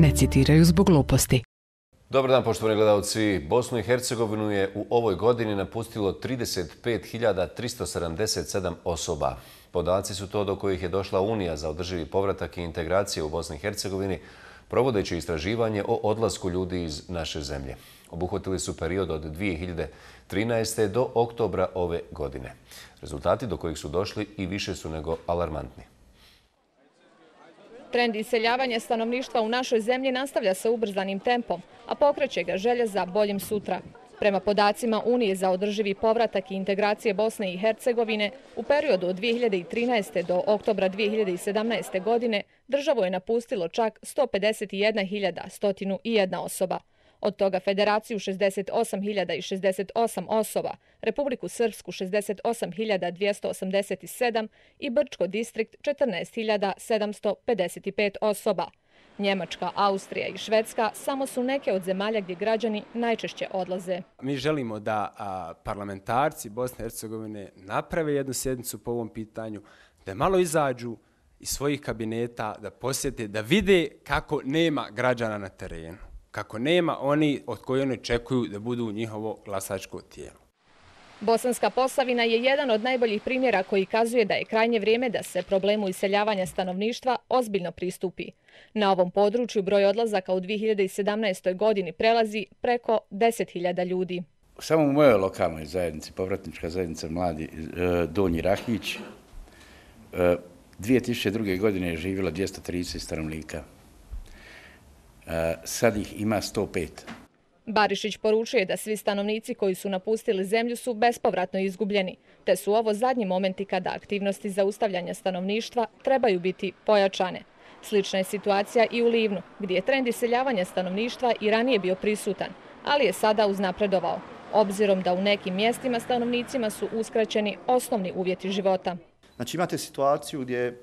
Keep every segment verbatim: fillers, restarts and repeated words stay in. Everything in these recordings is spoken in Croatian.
ne citiraju zbog gluposti. Dobar dan, poštovani gledalci. Bosnu i Hercegovinu je u ovoj godini napustilo trideset pet hiljada tristo sedamdeset sedam osoba. Podaci su to do kojih je došla Unija za održivi povratak i integracije u Bosni i Hercegovini, provodeći istraživanje o odlasku ljudi iz naše zemlje. Obuhvatili su period od dvije hiljade trinaeste. do oktobra ove godine. Rezultati do kojih su došli i više su nego alarmantni. Trend iseljavanja stanovništva u našoj zemlji nastavlja se ubrzanim tempom, a pokreće ga želja za boljim sutra. Prema podacima Unije za održivi povratak i integracije Bosne i Hercegovine, u periodu od dvije hiljade trinaeste. do oktobra dvije hiljade sedamnaeste. godine državu je napustilo čak sto pedeset jedna hiljada sto jedna osoba. Od toga Federaciju šezdeset osam hiljada šezdeset osam osoba, Republiku Srpsku šezdeset osam hiljada dvjesto osamdeset sedam i Brčko distrikt četrnaest hiljada sedamsto pedeset pet osoba. Njemačka, Austrija i Švedska samo su neke od zemalja gdje građani najčešće odlaze. Mi želimo da a, parlamentarci Bosne i Hercegovine naprave jednu sjednicu po ovom pitanju, da malo izađu iz svojih kabineta, da posjete, da vide kako nema građana na terenu. Kako nema oni od koji oni očekuju da budu njihovo glasačko tijelo. Bosanska Posavina je jedan od najboljih primjera koji kazuje da je krajnje vrijeme da se problemu iseljavanja stanovništva ozbiljno pristupi. Na ovom području broj odlazaka u dvije hiljade sedamnaestoj. godini prelazi preko deset hiljada ljudi. Samo u mojoj lokalnoj zajednici, povratnička zajednica Mladi Donji Rahić, dvije tisuće druge. godine je živjelo dvjesto trideset stanovnika. Sad ih ima sto pet. Barišić poručuje da svi stanovnici koji su napustili zemlju su bespovratno izgubljeni, te su ovo zadnji momenti kada aktivnosti zaustavljanja stanovništva trebaju biti pojačane. Slična je situacija i u Livnu, gdje je trend iseljavanja stanovništva i ranije bio prisutan, ali je sada uznapredovao, obzirom da u nekim mjestima stanovnicima su uskraćeni osnovni uvjeti života. Znači imate situaciju gdje,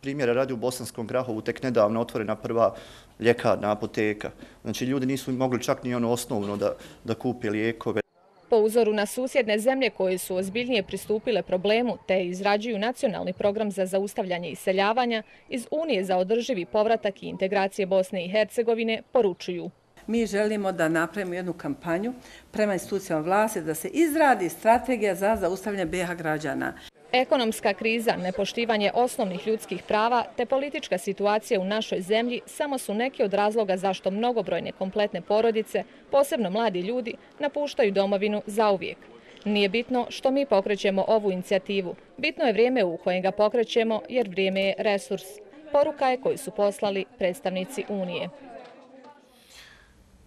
primjera radi, u Bosanskom Grahovu tek nedavno otvorena prva ljekarna, apoteka. Znači ljudi nisu mogli čak ni ono osnovno da, da kupe lijekove. Po uzoru na susjedne zemlje koje su ozbiljnije pristupile problemu te izrađuju nacionalni program za zaustavljanje iseljavanja, iz Unije za održivi povratak i integracije Bosne i Hercegovine poručuju. Mi želimo da napravimo jednu kampanju prema institucijama vlasti da se izradi strategija za zaustavljanje bijeha građana. Ekonomska kriza, nepoštivanje osnovnih ljudskih prava te politička situacija u našoj zemlji samo su neki od razloga zašto mnogobrojne kompletne porodice, posebno mladi ljudi, napuštaju domovinu zauvijek. Nije bitno što mi pokrećemo ovu inicijativu. Bitno je vrijeme u kojem ga pokrećemo jer vrijeme je resurs. Poruka je koju su poslali predstavnici Unije.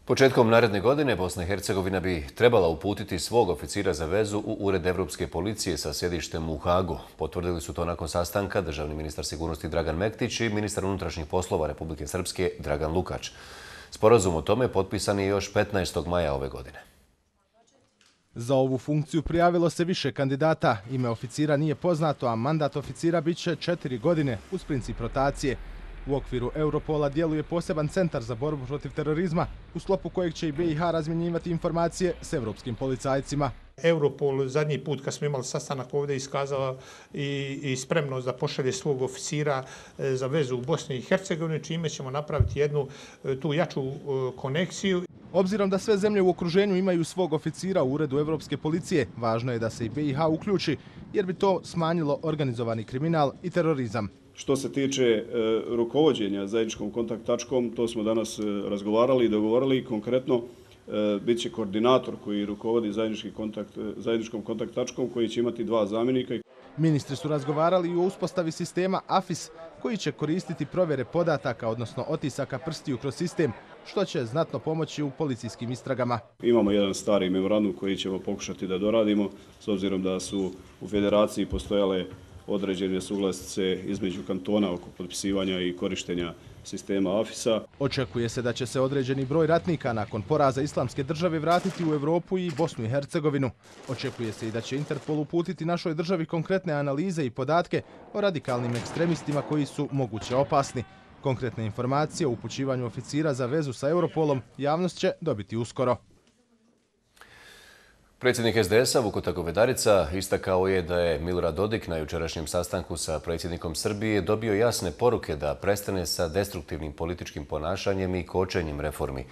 Početkom naredne godine Bosna i Hercegovina bi trebala uputiti svog oficira za vezu u Ured Evropske policije sa sjedištem u Hagu. Potvrdili su to nakon sastanka državni ministar sigurnosti Dragan Mektić i ministar unutrašnjih poslova Republike Srpske Dragan Lukač. Sporazum o tome potpisan je još petnaestog maja ove godine. Za ovu funkciju prijavilo se više kandidata. Ime oficira nije poznato, a mandat oficira bit će četiri godine uz princip rotacije. U okviru Europola djeluje poseban centar za borbu protiv terorizma, u sklopu kojeg će i B i H razmjenjivati informacije s evropskim policajcima. Europol zadnji put kad smo imali sastanak ovdje iskazala i, i spremnost da pošalje svog oficira za vezu u Bosni i Hercegovini, čime ćemo napraviti jednu tu jaču konekciju. Obzirom da sve zemlje u okruženju imaju svog oficira u Uredu Evropske policije, važno je da se i B i H uključi, jer bi to smanjilo organizovani kriminal i terorizam. Što se tiče e, rukovođenja zajedničkom kontakt tačkom, to smo danas e, razgovarali i dogovorili. Konkretno e, bit će koordinator koji rukovodi zajednički kontakt, e, zajedničkom kontakt tačkom koji će imati dva zamjenika. Ministri su razgovarali i o uspostavi sistema A F I S koji će koristiti provjere podataka, odnosno otisaka prstiju kroz sistem, što će znatno pomoći u policijskim istragama. Imamo jedan stari memorandum koji ćemo pokušati da doradimo, s obzirom da su u federaciji postojale određene suglasice između kantona oko potpisivanja i korištenja sistema A F I S-a. Očekuje se da će se određeni broj ratnika nakon poraza Islamske države vratiti u Evropu i Bosnu i Hercegovinu. Očekuje se i da će Interpol uputiti našoj državi konkretne analize i podatke o radikalnim ekstremistima koji su moguće opasni. Konkretne informacije o upućivanju oficira za vezu sa Europolom javnost će dobiti uskoro. Predsjednik es de esa Vukota Govedarica istakao je da je Milorad Dodik na jučerašnjem sastanku sa predsjednikom Srbije dobio jasne poruke da prestane sa destruktivnim političkim ponašanjem i kočenjem reformi.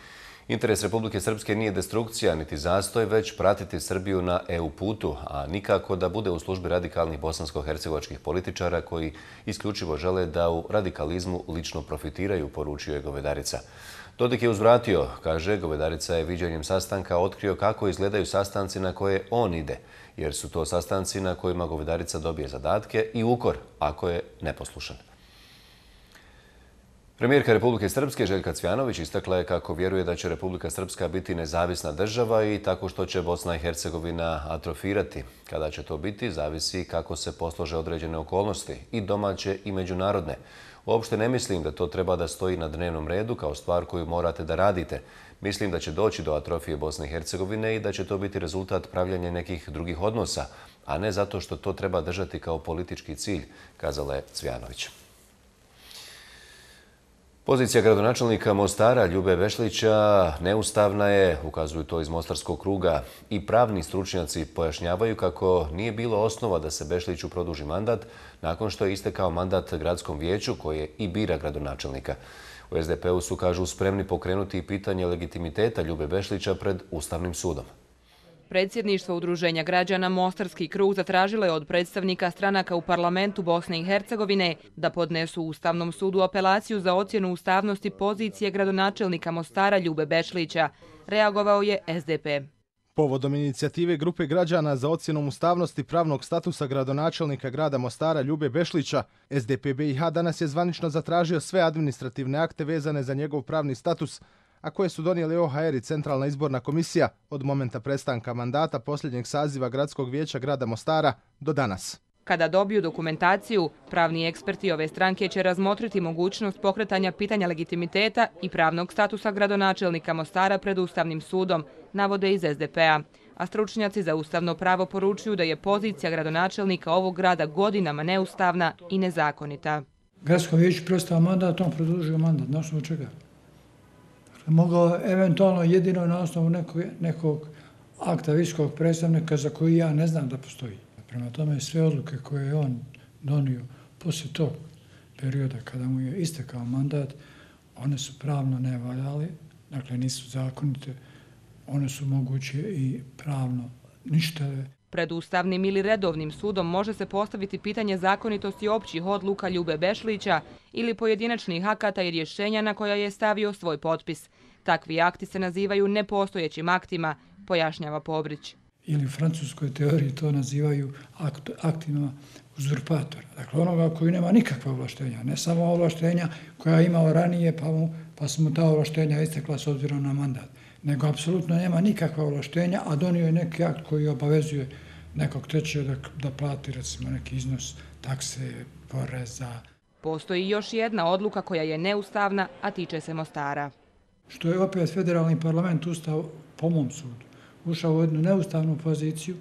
Interes Republike Srpske nije destrukcija niti zastoj, već pratiti Srbiju na E U putu, a nikako da bude u službi radikalnih bosansko-hercegovačkih političara koji isključivo žele da u radikalizmu lično profitiraju, poručio je Govedarica. Dodik je uzvratio, kaže, Govedarica je viđenjem sastanka otkrio kako izgledaju sastanci na koje on ide, jer su to sastanci na kojima Govedarica dobije zadatke i ukor ako je neposlušan. Premijerka Republike Srpske Željka Cvjanović istakla je kako vjeruje da će Republika Srpska biti nezavisna država i tako što će Bosna i Hercegovina atrofirati. Kada će to biti, zavisi kako se poslože određene okolnosti, i domaće i međunarodne. Uopšte ne mislim da to treba da stoji na dnevnom redu kao stvar koju morate da radite. Mislim da će doći do atrofije Bosne i Hercegovine i da će to biti rezultat pravljanja nekih drugih odnosa, a ne zato što to treba držati kao politički cilj, kazala je Cvjanović. Pozicija gradonačelnika Mostara Ljube Bešlića neustavna je, ukazuju to iz Mostarskog kruga, i pravni stručnjaci pojašnjavaju kako nije bilo osnova da se Bešliću produži mandat nakon što je istekao mandat gradskom vijeću koje i bira gradonačelnika. U es de pe u su, kažu, spremni pokrenuti pitanje legitimiteta Ljube Bešlića pred Ustavnim sudom. Predsjedništvo Udruženja građana Mostarski krug zatražilo je od predstavnika stranaka u parlamentu Bosne i Hercegovine da podnesu Ustavnom sudu apelaciju za ocjenu ustavnosti pozicije gradonačelnika Mostara Ljube Bešlića. Reagovao je es de pe. Povodom inicijative grupe građana za ocjenom ustavnosti pravnog statusa gradonačelnika grada Mostara Ljube Bešlića, es de pe be i ha danas je zvanično zatražio sve administrativne akte vezane za njegov pravni status, a koje su donijeli o ha er i Centralna izborna komisija od momenta prestanka mandata posljednjeg saziva Gradskog vijeća grada Mostara do danas. Kada dobiju dokumentaciju, pravni eksperti ove stranke će razmotriti mogućnost pokretanja pitanja legitimiteta i pravnog statusa gradonačelnika Mostara pred Ustavnim sudom, navode iz es de pe a. A stručnjaci za ustavno pravo poručuju da je pozicija gradonačelnika ovog grada godinama neustavna i nezakonita. Gradsko vijeće prestao mandat, on produžio mandat. Na osnovu čega? Mogao eventualno jedino na osnovu nekog, nekog akta visokog predstavnika za koji ja ne znam da postoji. Prema tome, sve odluke koje je on donio poslije tog perioda kada mu je istekao mandat, one su pravno nevaljale, dakle nisu zakonite, one su moguće i pravno ništave. Pred Ustavnim ili redovnim sudom može se postaviti pitanje zakonitosti općih odluka Ljube Bešlića ili pojedinačnih akata i rješenja na koja je stavio svoj potpis. Takvi akti se nazivaju nepostojećim aktima, pojašnjava Pobrić. Ili u francuskoj teoriji to nazivaju akt, aktima uzurpatora. Dakle, onoga koji nema nikakva ovlaštenja, ne samo ovlaštenja koja je imao ranije, pa, mu, pa su mu ta ovlaštenja istekla s obzirom na mandat, nego apsolutno nema nikakva ovlaštenja, a donio je neki akt koji obavezuje nekog trećeg da, da plati, recimo, neki iznos takse, poreza. Postoji još jedna odluka koja je neustavna, a tiče se Mostara. Što je opet federalni parlament ustao, po mom sudu, ušao u jednu neustavnu poziciju,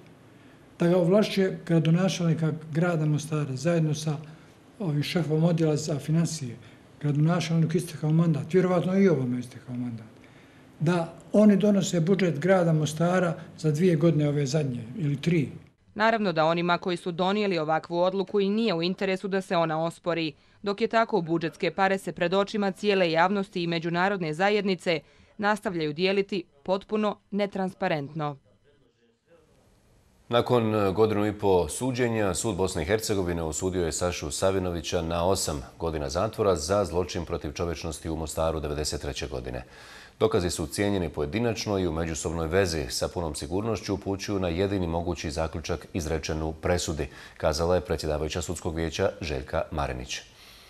da ga ovlašćuje gradonačelnika grada Mostara zajedno sa ovim šefom odjela za financije. Gradonačelnik istekao mandat, vjerovatno i ovome istekao mandat. Da oni donose budžet grada Mostara za dvije godine ove zadnje ili tri. Naravno da onima koji su donijeli ovakvu odluku i nije u interesu da se ona ospori, dok je tako budžetske pare se pred očima cijele javnosti i međunarodne zajednice nastavljaju dijeliti potpuno netransparentno. Nakon godinu i po suđenja, sud Bosne i Hercegovine osudio je Sašu Savinovića na osam godina zatvora za zločin protiv čovječnosti u Mostaru devedeset treće godine. Dokazi su cijenjeni pojedinačno i u međusobnoj vezi sa punom sigurnošću upućuju na jedini mogući zaključak izrečen u presudi, kazala je predsjedavajuća sudskog vijeća Željka Marenić.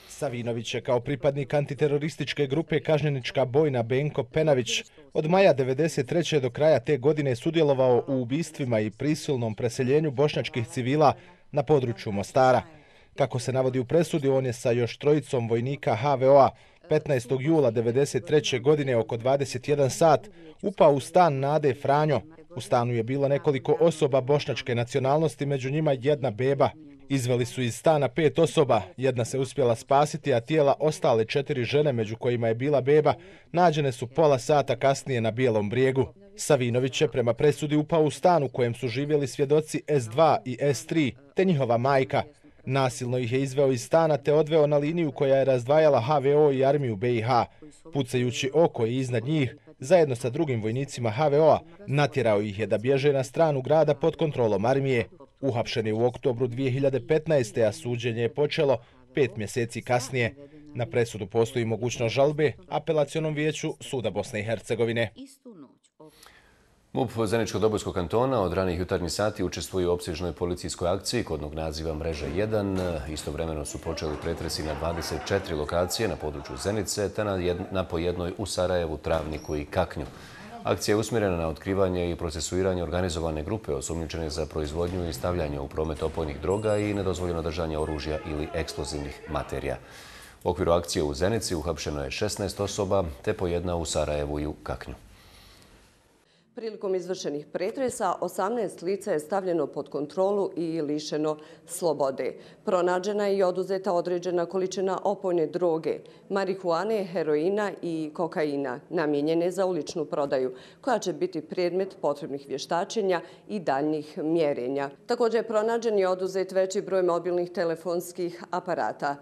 Savinović je kao pripadnik antiterorističke grupe kažnjenička bojna Benko Penavić od maja devedeset treće do kraja te godine sudjelovao u ubistvima i prisilnom preseljenju bošnjačkih civila na području Mostara. Kako se navodi u presudi, on je sa još trojicom vojnika ha ve o a petnaestog jula devedeset treće godine oko dvadeset jedan sat upao u stan Nade Franjo. U stanu je bilo nekoliko osoba bošnjačke nacionalnosti, među njima jedna beba. Izveli su iz stana pet osoba, jedna se uspjela spasiti, a tijela ostale četiri žene, među kojima je bila beba, nađene su pola sata kasnije na Bijelom brijegu. Savinović je prema presudi upao u stan u kojem su živjeli svjedoci S dva i S tri, te njihova majka. Nasilno ih je izveo iz stana te odveo na liniju koja je razdvajala H V O i armiju B i H. Pucajući oko i iznad njih, zajedno sa drugim vojnicima H V O-a, natjerao ih je da bježe na stranu grada pod kontrolom armije. Uhapšen je u oktobru dvije hiljade petnaeste. a suđenje je počelo pet mjeseci kasnije. Na presudu postoji mogućnost žalbe apelacionom vijeću Suda Bosne i Hercegovine. M U P Zeničko-Dobojskog kantona od ranih jutarnjih sati učestvuje u opsežnoj policijskoj akciji kodnog naziva Mreža jedan. Istovremeno su počeli pretresi na dvadeset četiri lokacije na području Zenice, te na, jed, na po jednoj u Sarajevu, Travniku i Kaknju. Akcija je usmjerena na otkrivanje i procesuiranje organizovane grupe osumnjičene za proizvodnju i stavljanje u promet opojnih droga i nedozvoljeno držanje oružja ili eksplozivnih materija. U okviru akcije u Zenici uhapšeno je šesnaest osoba, te po jedna u Sarajevu i u Kaknju. Prilikom izvršenih pretresa, osamnaest lica je stavljeno pod kontrolu i lišeno slobode. Pronađena je i oduzeta određena količina opojne droge, marihuane, heroina i kokaina, namijenjene za uličnu prodaju, koja će biti predmet potrebnih vještačenja i daljnjih mjerenja. Također je pronađen i oduzet veći broj mobilnih telefonskih aparata,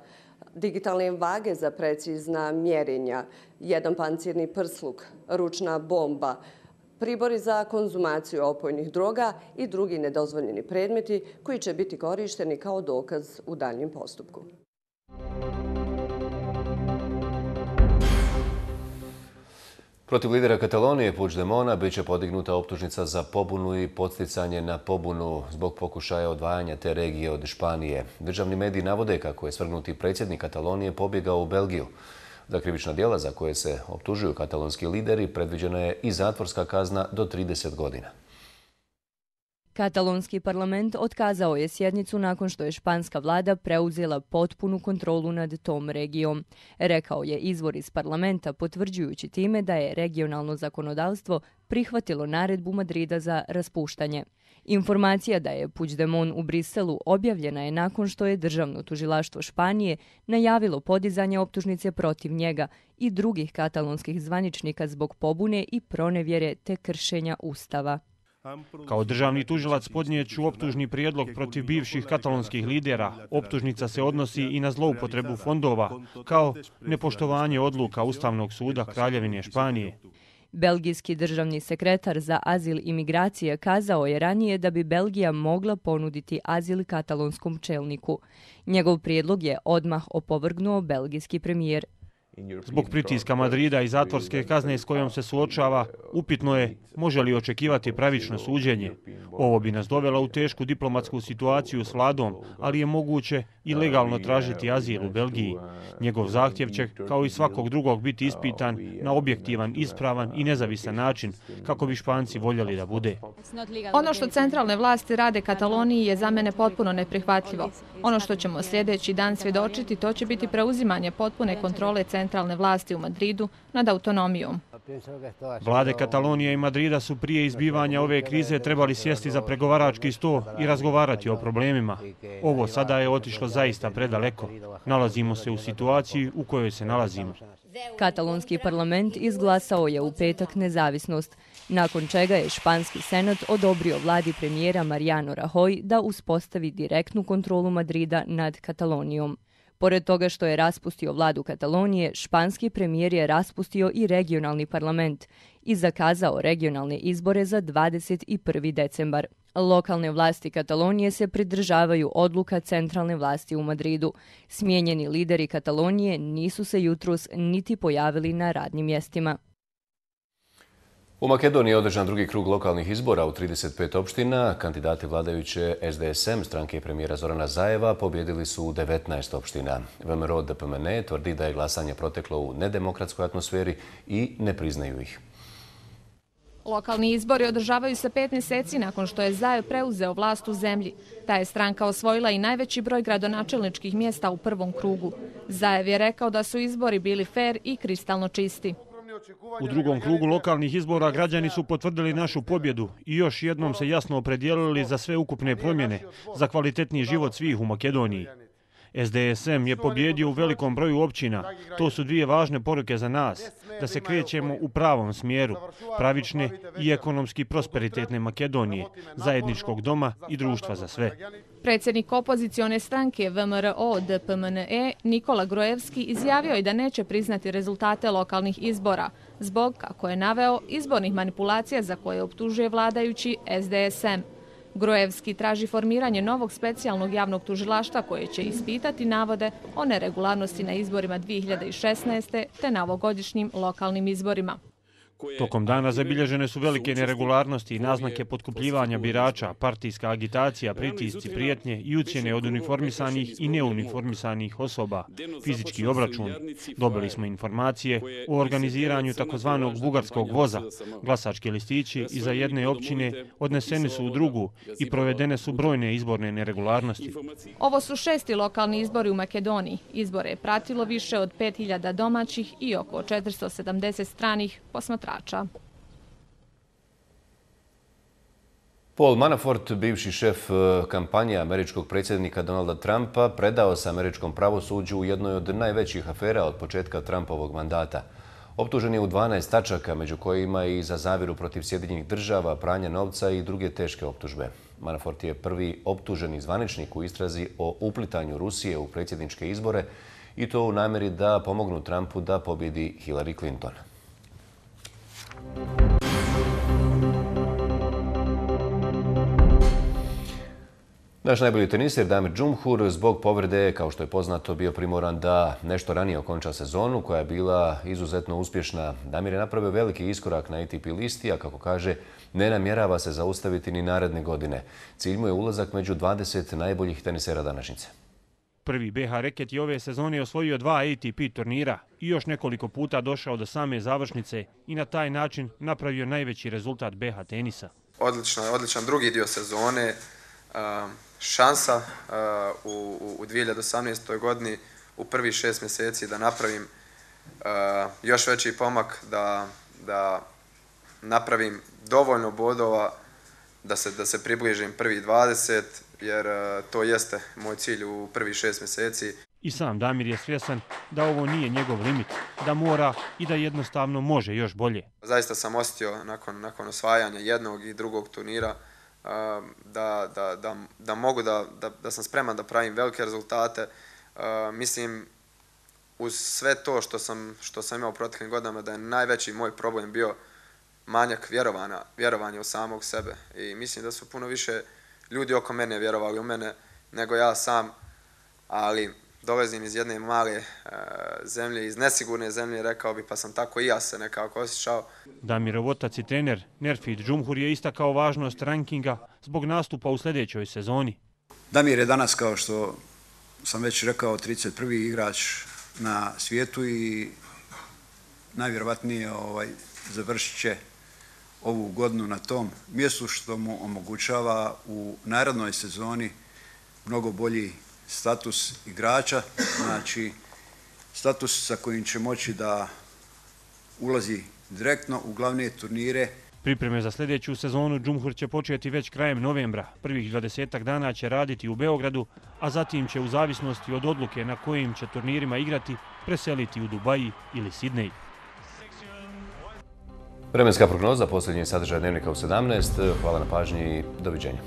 digitalne vage za precizna mjerenja, jedan pancirni prsluk, ručna bomba, pribori za konzumaciju opojnih droga i drugi nedozvoljeni predmeti koji će biti korišteni kao dokaz u daljnjem postupku. Protiv lidera Katalonije Puigdemona bit će podignuta optužnica za pobunu i podsticanje na pobunu zbog pokušaja odvajanja te regije od Španije. Državni mediji navode kako je svrgnuti predsjednik Katalonije pobjegao u Belgiju. Za krivična djela za koje se optužuju katalonski lideri predviđena je i zatvorska kazna do trideset godina. Katalonski parlament otkazao je sjednicu nakon što je španska vlada preuzela potpunu kontrolu nad tom regijom. Rekao je izvor iz parlamenta, potvrđujući time da je regionalno zakonodavstvo prihvatilo naredbu Madrida za raspuštanje. Informacija da je Puigdemont u Briselu objavljena je nakon što je državno tužilaštvo Španije najavilo podizanje optužnice protiv njega i drugih katalonskih zvaničnika zbog pobune i pronevjere te kršenja ustava. Kao državni tužilac podnijeću optužni prijedlog protiv bivših katalonskih lidera. Optužnica se odnosi i na zloupotrebu fondova, kao nepoštovanje odluka Ustavnog suda Kraljevine Španije. Belgijski državni sekretar za azil i migracije kazao je ranije da bi Belgija mogla ponuditi azil katalonskom čelniku. Njegov prijedlog je odmah opovrgnuo belgijski premijer. Zbog pritiska Madrida i zatvorske kazne s kojom se suočava, upitno je može li očekivati pravično suđenje. Ovo bi nas dovela u tešku diplomatsku situaciju s vladom, ali je moguće i legalno tražiti azil u Belgiji. Njegov zahtjev će, kao i svakog drugog, biti ispitan na objektivan, ispravan i nezavisan način, kako bi Španci voljeli da bude. Ono što centralne vlasti rade Kataloniji je za mene potpuno neprihvatljivo. Ono što ćemo sljedeći dan svjedočiti, to će biti preuzimanje potpune kontrole centralne vlasti u Madridu nad autonomijom. Vlade Katalonije i Madrida su prije izbivanja ove krize trebali sjesti za pregovarački sto i razgovarati o problemima. Ovo sada je otišlo zaista predaleko. Nalazimo se u situaciji u kojoj se nalazimo. Katalonski parlament izglasao je u petak nezavisnost, nakon čega je španski senat odobrio vladi premijera Mariano Rajoy da uspostavi direktnu kontrolu Madrida nad Katalonijom. Pored toga što je raspustio vladu Katalonije, španski premijer je raspustio i regionalni parlament i zakazao regionalne izbore za dvadeset prvi decembar. Lokalne vlasti Katalonije se pridržavaju odluka centralne vlasti u Madridu. Smijenjeni lideri Katalonije nisu se jutros niti pojavili na radnim mjestima. U Makedoniji je održan drugi krug lokalnih izbora u trideset pet opština. Kandidati vladajuće S D S M, stranke premijera Zorana Zajeva, pobjedili su u devetnaest opština. V M R O D P M N tvrdi da je glasanje proteklo u nedemokratskoj atmosferi i ne priznaju ih. Lokalni izbori održavaju se pet mjeseci nakon što je Zajev preuzeo vlast u zemlji. Ta je stranka osvojila i najveći broj gradonačelničkih mjesta u prvom krugu. Zajev je rekao da su izbori bili fer i kristalno čisti. U drugom krugu lokalnih izbora građani su potvrdili našu pobjedu i još jednom se jasno opredijelili za sve ukupne promjene, za kvalitetniji život svih u Makedoniji. S D S M je pobjedio u velikom broju općina. To su dvije važne poruke za nas, da se krećemo u pravom smjeru, pravične i ekonomski prosperitetne Makedonije, zajedničkog doma i društva za sve. Predsjednik opozicione stranke V M R O D P M N E Nikola Grojevski izjavio je da neće priznati rezultate lokalnih izbora, zbog, kako je naveo, izbornih manipulacija za koje optužuje vladajući S D S M. Grojevski traži formiranje novog specijalnog javnog tužilaštva koje će ispitati navode o neregularnosti na izborima dvije hiljade šesnaeste. te na ovogodišnjim lokalnim izborima. Tokom dana zabilježene su velike neregularnosti i naznake potkupljivanja birača, partijska agitacija, pritisci, prijetnje i ucjene od uniformisanih i neuniformisanih osoba, fizički obračun. Dobili smo informacije o organiziranju takozvanog bugarskog voza. Glasački listići iza jedne općine odneseni su u drugu i provedene su brojne izborne neregularnosti. Ovo su šesti lokalni izbori u Makedoniji. Izbore je pratilo više od pet hiljada domaćih i oko četiristo sedamdeset stranih posmatrača. Paul Manafort, bivši šef kampanje američkog predsjednika Donalda Trumpa, predao se američkom pravosuđu u jednoj od najvećih afera od početka Trumpovog mandata. Optužen je u dvanaest tačaka, među kojima i za zavjeru protiv Sjedinjenih država, pranja novca i druge teške optužbe. Manafort je prvi optuženi zvaničnik u istrazi o uplitanju Rusije u predsjedničke izbore i to u namjeri da pomognu Trumpu da pobjedi Hillary Clinton. Naš najbolji teniser Damir Džumhur zbog povrede, kao što je poznato, bio primoran da nešto ranije okonča sezonu koja je bila izuzetno uspješna. Damir je napravio veliki iskorak na A T P listi, a kako kaže, ne namjerava se zaustaviti ni naredne godine. Cilj mu je ulazak među dvadeset najboljih tenisera današnjice. Prvi B H reket je ove sezone osvojio dva A T P turnira i još nekoliko puta došao do same završnice i na taj način napravio najveći rezultat B H tenisa. Odličan, odličan drugi dio sezone, šansa u, u dvije hiljade osamnaestoj godini u prvih šest mjeseci da napravim još veći pomak, da, da napravim dovoljno bodova da se, da se približim prvih dvadeset, jer to jeste moj cilj u prvih šest mjeseci. I sam Damir je svjesan da ovo nije njegov limit, da mora i da jednostavno može još bolje. Zaista sam osjetio nakon, nakon osvajanja jednog i drugog turnira da, da, da, da mogu da, da, da sam spreman da pravim velike rezultate. Mislim, uz sve to što sam, što sam imao u proteklim godinama, da je najveći moj problem bio manjak vjerovanja, vjerovanja u samog sebe. I mislim da su puno više ljudi oko mene vjerovali u mene nego ja sam, ali dolazim iz jedne male e, zemlje, iz nesigurne zemlje, rekao bi, pa sam tako i ja se nekako osjećao. Damirov otac i trener Nerfid Džumhur je istakao važnost rankinga zbog nastupa u sljedećoj sezoni. Damir je danas, kao što sam već rekao, trideset prvi igrač na svijetu i najvjerovatnije ovaj, završit će ovu godinu na tom mjestu, što mu omogućava u narednoj sezoni mnogo bolji status igrača, znači status sa kojim će moći da ulazi direktno u glavne turnire. Pripreme za sljedeću sezonu Džumhur će početi već krajem novembra. Prvih dvadesetak dana će raditi u Beogradu, a zatim će u zavisnosti od odluke na kojim će turnirima igrati preseliti u Dubaji ili Sidnej. Vremenska prognoza, posljednji sadržaj Dnevnika u sedamnaest. Hvala na pažnji i doviđenja.